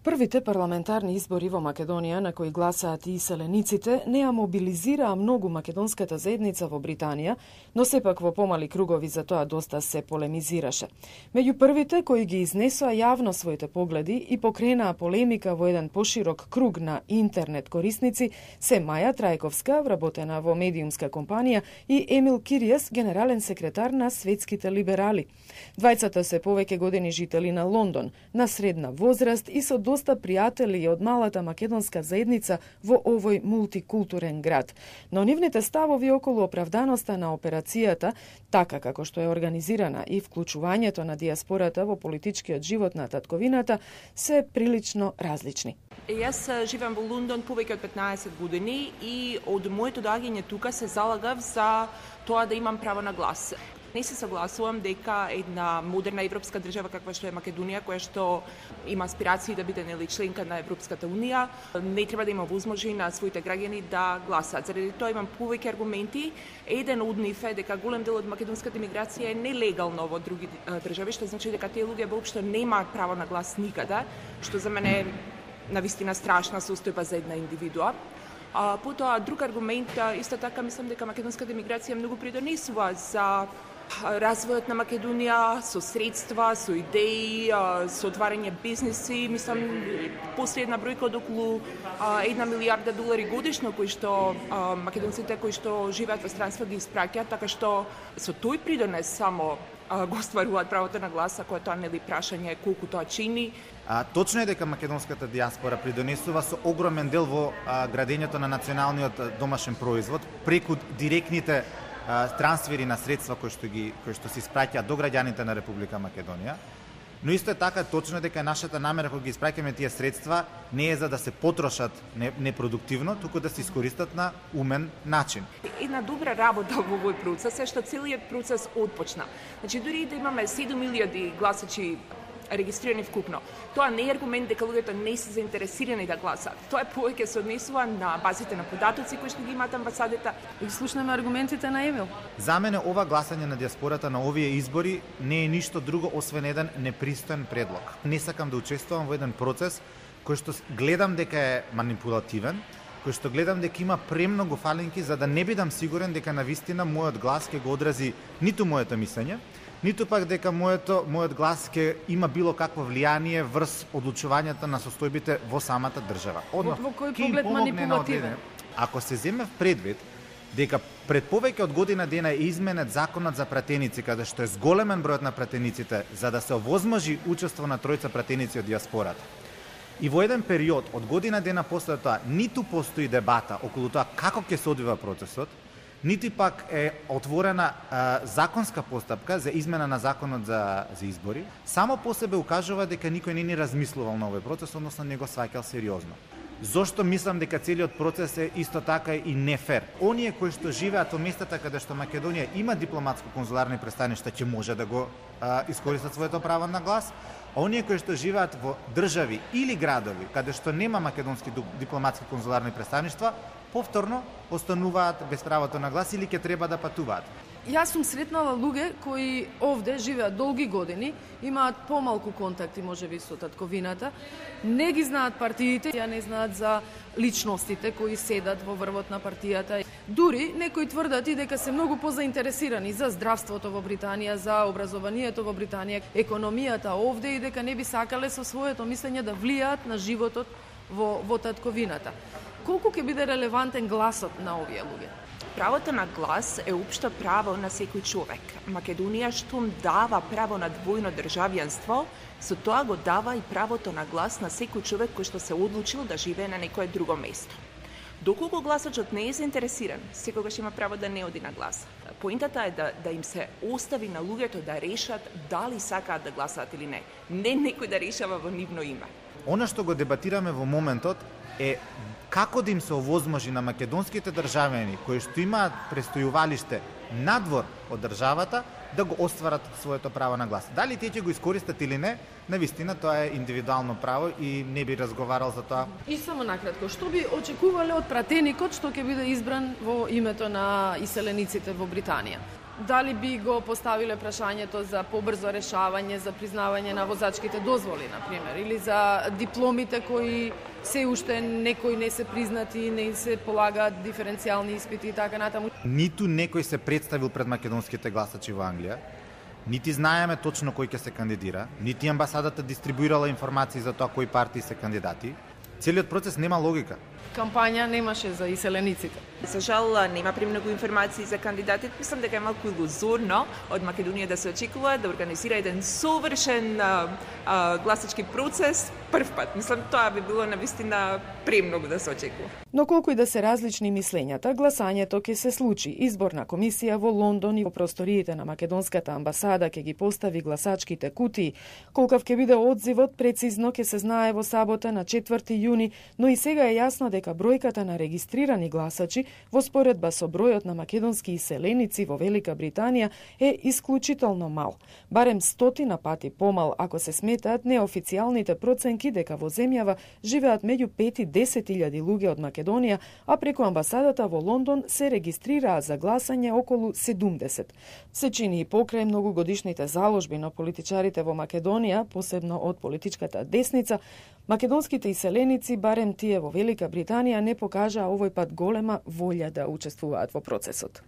Првите парламентарни избори во Македонија на кои гласаат и иселениците не ја мобилизираа многу македонската заедница во Британија, но сепак во помали кругови за тоа доста се полемизираше. Меѓу првите кои ги изнесоа јавно своите погледи и покренаа полемика во еден поширок круг на интернет корисници се Маја Трајковска, вработена во медиумска компанија, и Емил Киријас, генерален секретар на Светските либерали. Двајцата се повеќе години жители на Лондон, на средна возраст и со доста пријатели од малата македонска заедница во овој мултикултурен град. Но нивните ставови околу оправданоста на операцијата, така како што е организирана, и вклучувањето на дијаспората во политичкиот живот на татковината, се прилично различни. Јас живеам во Лондон повеќе од 15 години и од моето доаѓање тука се залагав за тоа да имам право на глас. Не се согласувам дека една модерна европска држава каква што е Македонија, која што има аспирации да биде членка на Европската унија, не треба да има возможи на своите граѓани да гласаат. Заради тоа имам повеќе аргументи. Еден од нив е дека голем дел од македонската емиграција е нелегално во други држави, што значи дека тие луѓе воопшто немаат право на глас никаде, што за мене навистина страшна состојба за една индивидуа. Потоа друг аргумент, исто така мислам дека македонската емиграција многу придонесува за развојот на Македонија со средства, со идеи, со отварање бизнеси. Мислам, последна бројка од околу 1 милијарда долари годишно кои што македонците кои што живеат во странство ги испраќаат, така што со тој придонес само го стваруваат правото на глас, ако тоа нели прашање колку тоа чини. Точно е дека македонската дијаспора придонесува со огромен дел во градењето на националниот домашен производ преку директните трансфери на средства кои што се испраќаат до граѓаните на Република Македонија. Но исто е така точно дека нашата намера кога ги испраќаме тие средства не е за да се потрошат непродуктивно, туку да се искористат на умен начин. Една добра работа во овој процес е што целиот процес отпочна. Значи дури и да имаме 7.000 гласачи регистрирани вкупно, тоа не е аргумент дека луѓето не се заинтересирани да гласаат. Тоа е повеќе се однесува на базите на податоци кои што ги имаат амбасадите. И слушнеме аргументите на Емил. За мене ова гласање на дијаспората на овие избори не е ништо друго освен еден непристоен предлог. Не сакам да учествувам во еден процес кој што гледам дека е манипулативен, кој што гледам дека има премногу фалинки за да не бидам сигурен дека навистина мојот глас ќе го одрази ниту моето мислење, ниту пак дека мојот глас ќе има било какво влијание врз одлучувањето на состојбите во самата држава. Во кој поглед манипулативен? Ако се земе в предвид дека пред повеќе од година дена е изменет законот за пратеници, каде што е зголемен бројот на пратениците за да се овозможи учество на тројца пратеници од дијаспората. И во еден период од година дена после тоа ниту постои дебата околу тоа како ќе се одвива процесот, нити пак е отворена законска постапка за измена на законот за избори, само по себе укажува дека никој не ни размислувал на овој процес, односно не го сваќал сериозно. Зошто мислам дека целиот процес е исто така и нефер? Оние кои што живеат во местата каде што Македонија има дипломатско-конзуларни престаништа ќе може да го искористат своето право на глас, а оние кои што живеат во држави или градови каде што нема македонски дипломатски-конзуларни престаништва, повторно остануваат без правото на глас или ќе треба да патуваат. Јас сум сретнала луѓе кои овде живеат долги години, имаат помалку контакти можеби со татковината, не ги знаат партиите, ја не знаат за личностите кои седат во врвот на партијата. Дури некои тврдат и дека се многу позаинтересирани за здравството во Британија, за образованието во Британија, економијата овде и дека не би сакале со своето мислење да влијаат на животот во татковината. Колку ќе биде релевантен гласот на овие луѓе? Правото на глас е општо право на секој човек. Македонија штом дава право на двојно државјанство, со тоа го дава и правото на глас на секој човек кој што се одлучил да живее на некое друго место. Доколку гласачот не е заинтересиран, секогаш има право да не оди на глас. Поинтата е да им се остави на луѓето да решат дали сакаат да гласаат или не. Не некој да решава во нивно име. Она што го дебатираме во моментот е како да им се овозможи на македонските државјани кои што имаат престојувалиште надвор од државата да го остварат своето право на глас. Дали тие ќе го искористат или не, навистина тоа е индивидуално право и не би разговарал за тоа. И само накратко, што би очекувале од пратеникот што ќе биде избран во името на иселениците во Британија? Дали би го поставиле прашањето за побрзо решавање, за признавање на возачките дозволи, например, или за дипломите кои се уште некои не се признати, не се полагаат диференцијални испити и така натаму? Ниту некој се представил пред македонските гласачи во Англија, нити знаеме точно кој ќе се кандидира, нити амбасадата дистрибуирала информации за тоа кои партии се кандидати. Целиот процес нема логика. Кампања немаше за иселениците. За жал, нема премногу информации за кандидатите. Мислам дека е малку илузорно од Македонија да се очекува да организира еден совршен гласачки процес прв пат. Мислам, тоа би било навистина премногу да се очекува. Но колку и да се различни мислењата, гласањето ќе се случи. Изборна комисија во Лондон и во просториите на македонската амбасада ќе ги постави гласачките кутии. Колкав ќе биде одзивот, прецизно ќе се знае во сабота на 4 јуни, но и сега е јасно дека бројката на регистрирани гласачи во споредба со бројот на македонски иселеници во Велика Британија е исклучително мал. Барем 100 пати помал ако се сметаат неофицијалните проценки дека во земјава живеат меѓу 5 и 10 илјади луѓе од Македонија, а преку амбасадата во Лондон се регистрираа за гласање околу 70. Се чини и покрај многогодишните заложби на политичарите во Македонија, посебно од политичката десница, македонските иселеници, барем тие во Велика Британија, не покажаа овој пат голема волја да учествуваат во процесот.